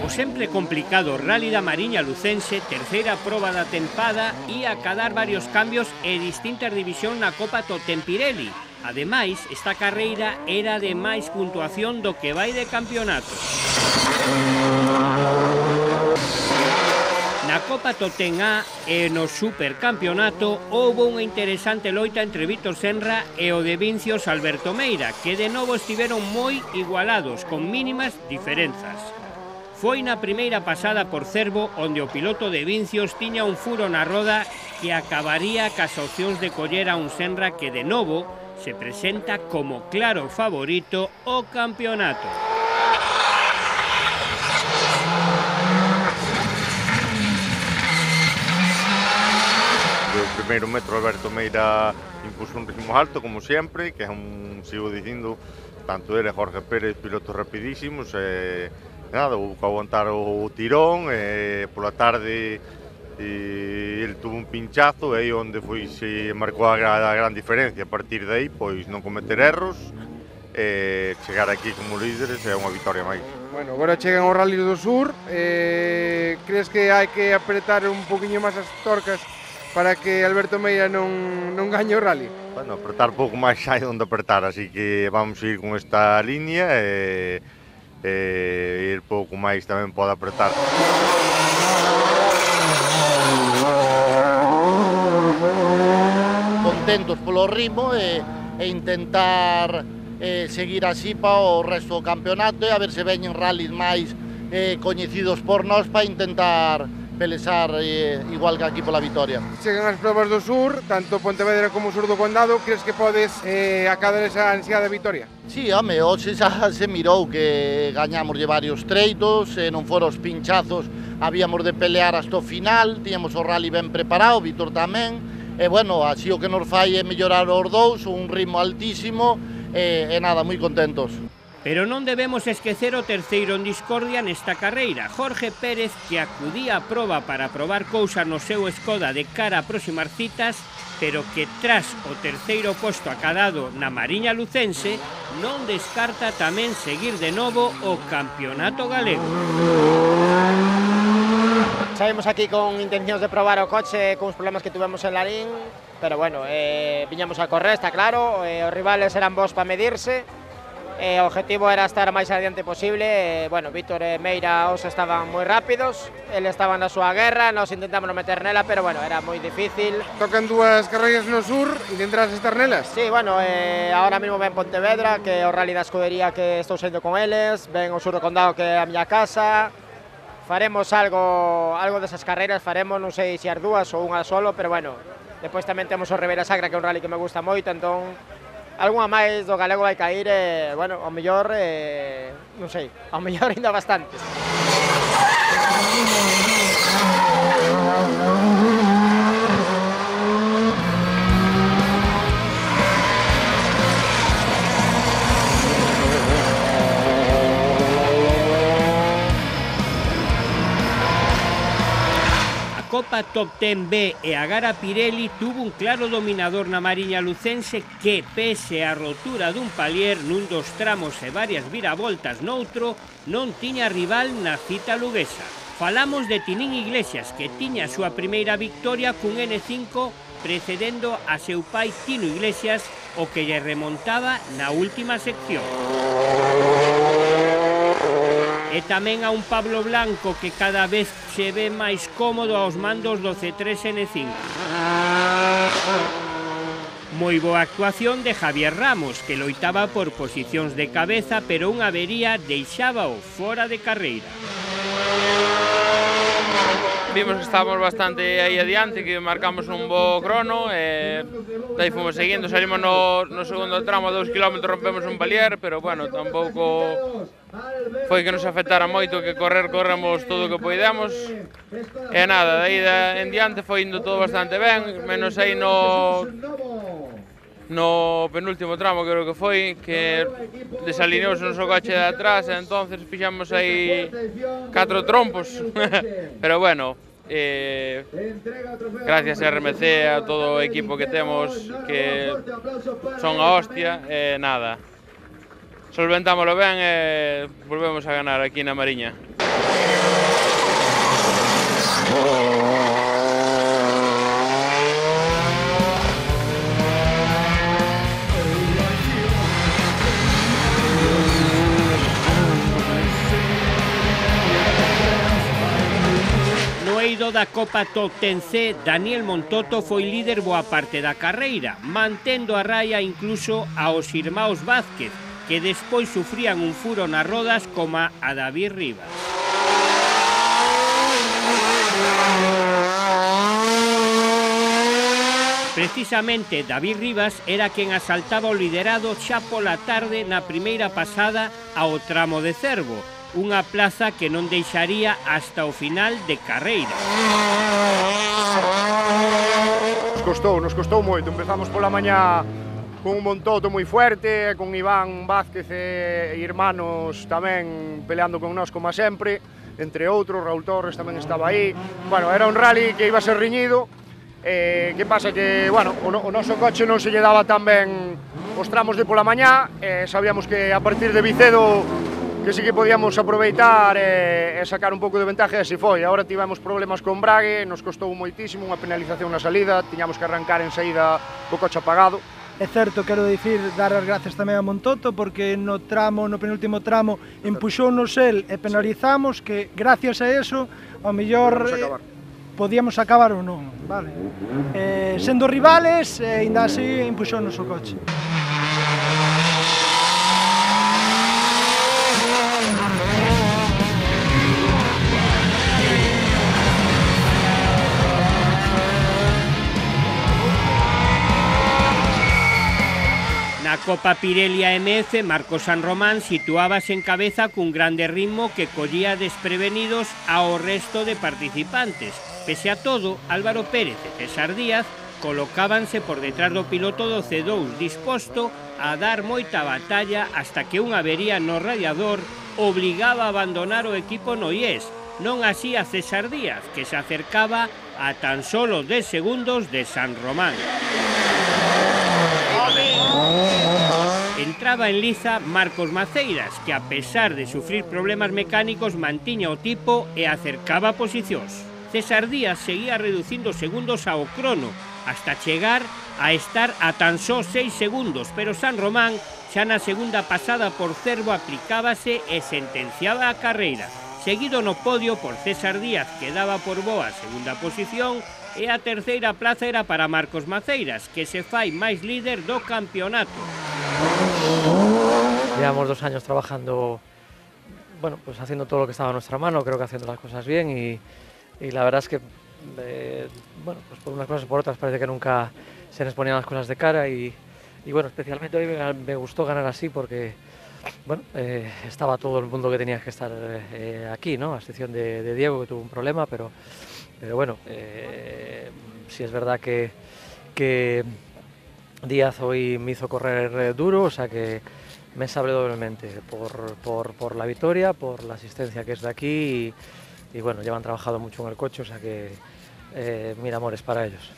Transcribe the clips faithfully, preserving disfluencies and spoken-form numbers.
O sempre complicado Rally da Mariña Lucense, terceira proba da tempada, e acadar varios cambios e distintas divisións na Copa Totem Pirelli. Ademais, esta carreira era de máis puntuación do que vai de campeonato. Na Copa Totem A e no Supercampeonato houve unha interesante loita entre Víctor Senra e o de Vincios Alberto Meira, que de novo estiveron moi igualados, con mínimas diferenzas. Foi na primeira pasada por Cervo onde o piloto de Vincios tiña un furo na roda que acabaría cas opcións de coller a un Senra que de novo se presenta como claro favorito ao campeonato. O primeiro metro Alberto Meira impuso un ritmo alto, como sempre, que é un, sigo dicindo, tanto ele e Jorge Pérez, pilotos rapidísimos, e nada, houve que aguantar o tirón, e pola tarde e ele tuvo un pinchazo, e aí onde foi se marcou a, a gran diferencia. A partir de aí, pois non cometer erros, e chegar aquí como líderes é unha victoria máis. Bueno, agora chegan os Rallys do Sur, eh, crees que hai que apretar un poquinho máis as torcas para que Alberto Meira non, non gañe o rally? Bueno, apretar pouco máis hai onde apretar, así que vamos a ir con esta línea e, e ir pouco máis tamén pode apretar. Contentos polo ritmo e, e intentar eh, seguir así para o resto do campeonato e a ver se veñen rallies máis eh, coñecidos por nós para intentar pelexar eh, igual que aquí pola vitoria. Chegan as probas do Sur, tanto Pontevedra como o Sur do Condado, crees que podes eh, acadar esa ansiada vitoria? Sí, home, hoxe xa se mirou que gañamos de varios treitos, e non foron os pinchazos, habíamos de pelear hasta o final, tiñamos o rally ben preparado, Víctor tamén, e bueno, así o que nos fai é mellorar os dous, un ritmo altísimo, e, e nada, moi contentos. Pero non debemos esquecer o terceiro en discordia nesta carreira, Jorge Pérez, que acudía a proba para probar cousas no seu Skoda de cara a próximas citas, pero que tras o terceiro posto acadado na Mariña Lucense, non descarta tamén seguir de novo o campeonato galego. Saímos aquí con intencións de probar o coche con os problemas que tuvemos en Larín, pero bueno, eh, viñamos a correr, está claro, eh, os rivales eran bons para medirse, e o objetivo era estar máis adiante posible. E, bueno, Víctor e Meira os estaban moi rápidos, ele estaba na súa guerra, nos intentamos non meter nela, pero bueno, era moi difícil. Tocan dúas carreiras no Sur, intentarás estar nelas? Sí, bueno, eh, ahora mesmo ven Pontevedra, que é o rally da escudería que estou saindo con eles, ven o Sur do Condado, que é a miña casa. Faremos algo, algo desas carreiras, faremos, non sei se as dúas ou unha solo, pero bueno, depois tamén temos o Ribeira Sacra, que é un rally que me gusta moito, entón algunha máis do galego vai cair, e, bueno, ao mellor, eh, non sei, ao mellor ainda bastantes. Copa Top Ten B e a Gara Pirelli tuvo un claro dominador na Mariña Lucense que, pese a rotura dun palier nun dos tramos e varias viravoltas noutro, non tiña rival na cita luguesa. Falamos de Tinín Iglesias, que tiña a súa primeira victoria cun N cinco precedendo a seu pai Tino Iglesias, o que lle remontaba na última sección. E tamén a un Pablo Blanco que cada vez se ve máis cómodo aos mandos do C tres N cinco. Moi boa actuación de Javier Ramos, que loitaba por posicións de cabeza, pero unha avería deixábao fora de carreira. Vimos que estábamos bastante aí adiante, que marcamos un bo crono, e daí fomos seguindo, salimos no, no segundo tramo, a dous kilómetros rompemos un palier, pero bueno, tampouco foi que nos afectara moito, que correr corremos todo o que poidemos, e nada, daí en diante foi indo todo bastante ben, menos aí no no penúltimo tramo, creo que foi, que desalineouse o noso coche de atrás, e entonces fixamos aí catro trompos, pero bueno, eh, gracias a R M C, a todo o equipo que temos, que son a hostia, e eh, nada, solventámoslo ben e volvemos a ganar aquí na Mariña. Da Copa Top Ten C, Daniel Montoto foi líder boa parte da carreira, mantendo a raia incluso aos irmãos Vázquez, que despois sufrían un furo nas rodas como a David Rivas. Precisamente David Rivas era quen asaltaba o liderado xa pola tarde na primeira pasada ao tramo de Cervo, unha plaza que non deixaría hasta o final de carreira. Nos costou, nos costou moito. Empezamos pola mañá con un Montoto moi fuerte, con Iván Vázquez e irmános tamén peleando con nós como sempre, entre outros, Raúl Torres tamén estaba aí. Bueno, era un rally que iba a ser riñido. Eh, que pasa que, bueno, o, no, o noso coche non se lle daba tan ben os tramos de pola mañá, eh, sabíamos que a partir de Vicedo que sí que podíamos aproveitar e, e sacar un pouco de ventaja, e así foi. Agora tivemos problemas con Brague, nos costou moitísimo, unha penalización na salida, tiñamos que arrancar en saída co coche apagado. É certo, quero dicir, dar as gracias tamén a Montoto, porque no tramo, no penúltimo tramo, empuxounos el e penalizamos, que gracias a eso, ao mellor eh, podíamos acabar ou non, vale? Eh, sendo rivales, eh, ainda así empuxounos o coche. Na Copa Pirelli A M F, Marcos San Román situábase en cabeza cun grande ritmo que collía desprevenidos ao resto de participantes. Pese a todo, Álvaro Pérez e César Díaz colocábanse por detrás do piloto do C dous, disposto a dar moita batalla hasta que unha avería no radiador obligaba a abandonar o equipo noiés. Non así a César Díaz, que se acercaba a tan solo dez segundos de San Román. Entraba en liza Marcos Maceiras, que a pesar de sufrir problemas mecánicos mantiña o tipo e acercaba posicións. César Díaz seguía reducindo segundos ao crono, hasta chegar a estar a tan só seis segundos, pero San Román xa na segunda pasada por Cervo aplicábase e sentenciaba a carreira. Seguido no podio por César Díaz, que daba por boa a segunda posición, e a terceira plaza era para Marcos Maceiras, que se fai máis líder do campeonato. Llevamos dos años trabajando, bueno, pues haciendo todo lo que estaba a nuestra mano, creo que haciendo las cosas bien y, y la verdad es que, eh, bueno, pues por unas cosas y por otras parece que nunca se nos ponían las cosas de cara y, y bueno, especialmente hoy me, me gustó ganar así porque, bueno, eh, estaba todo el mundo que tenía que estar eh, aquí, ¿no? A excepción de, de Diego, que tuvo un problema, pero, pero bueno, eh, sí es verdad que, que Díaz hoy me hizo correr eh, duro, o sea que me sabré doblemente por, por, por la victoria, por la asistencia que es de aquí y, y bueno, llevan trabajado mucho en el coche, o sea que eh, mil amores para ellos.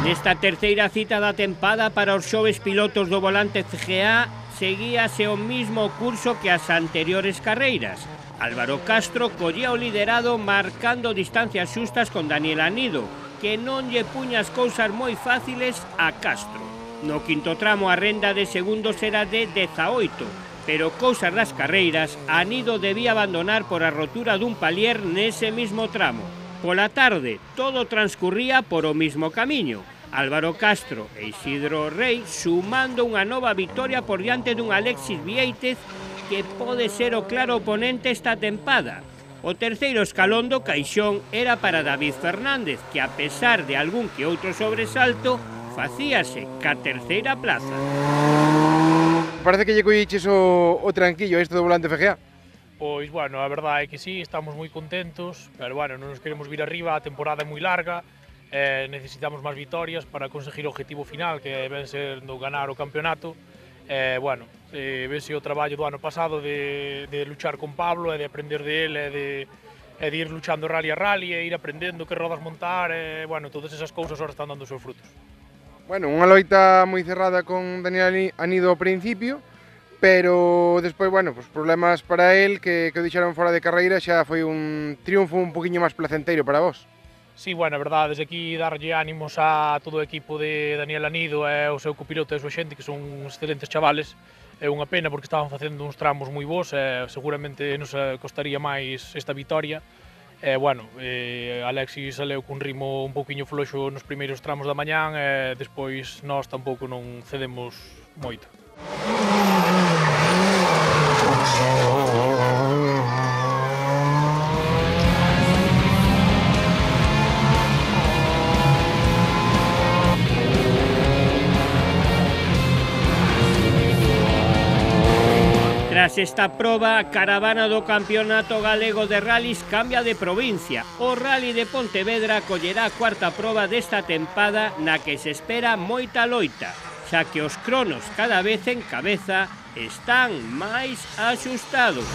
Nesta terceira cita da tempada para os xoves pilotos do volante C G A seguíase o mismo curso que as anteriores carreiras. Álvaro Castro collía o liderado marcando distancias xustas con Daniel Anido, que non lle puña as cousas moi fáciles a Castro. No quinto tramo a renda de segundos era de dezaoito, pero cousas das carreiras, Anido debía abandonar por a rotura dun palier nese mismo tramo. Pola tarde, todo transcurría por o mismo camiño. Álvaro Castro e Isidro Rey sumando unha nova victoria por diante dun Alexis Vieitez que pode ser o claro oponente esta tempada. O terceiro escalón do caixón era para David Fernández, que a pesar de algún que outro sobresalto, facíase ca terceira plaza. Parece que lle colliches o, o tranquillo a isto do volante F G A. Pois, bueno, a verdade é que sí, estamos moi contentos, pero, bueno, non nos queremos vir arriba, a temporada é moi larga, eh, necesitamos máis vitorias para conseguir o objetivo final, que ven sendo ganar o campeonato, E, bueno, eh, vese o traballo do ano pasado de, de luchar con Pablo e de aprender de él e de, e de ir luchando rally a rally e ir aprendendo que rodas montar e, bueno, todas esas cousas ahora están dando os seus frutos. Bueno, unha loita moi cerrada con Daniel Anido ao principio, pero despois, bueno, pues problemas para él que, que o deixaron fora de carreira, xa foi un triunfo un poquinho máis placenteiro para vos. Sí, bueno, a verdade, desde aquí darlle ánimos a todo o equipo de Daniel Anido e o seu copiloto e a súa xente, que son uns excelentes chavales. É unha pena porque estaban facendo uns tramos moi bons e seguramente nos costaría máis esta vitoria. E, bueno, eh, Alexis saleu cun ritmo un pouquiño floxo nos primeiros tramos da mañán e despois nós tampouco non cedemos moito. Tras esta proba, a caravana do Campeonato Galego de Rallys cambia de provincia. O Rally de Pontevedra collerá a cuarta proba desta tempada na que se espera moita loita, xa que os cronos cada vez en cabeza están máis axustados.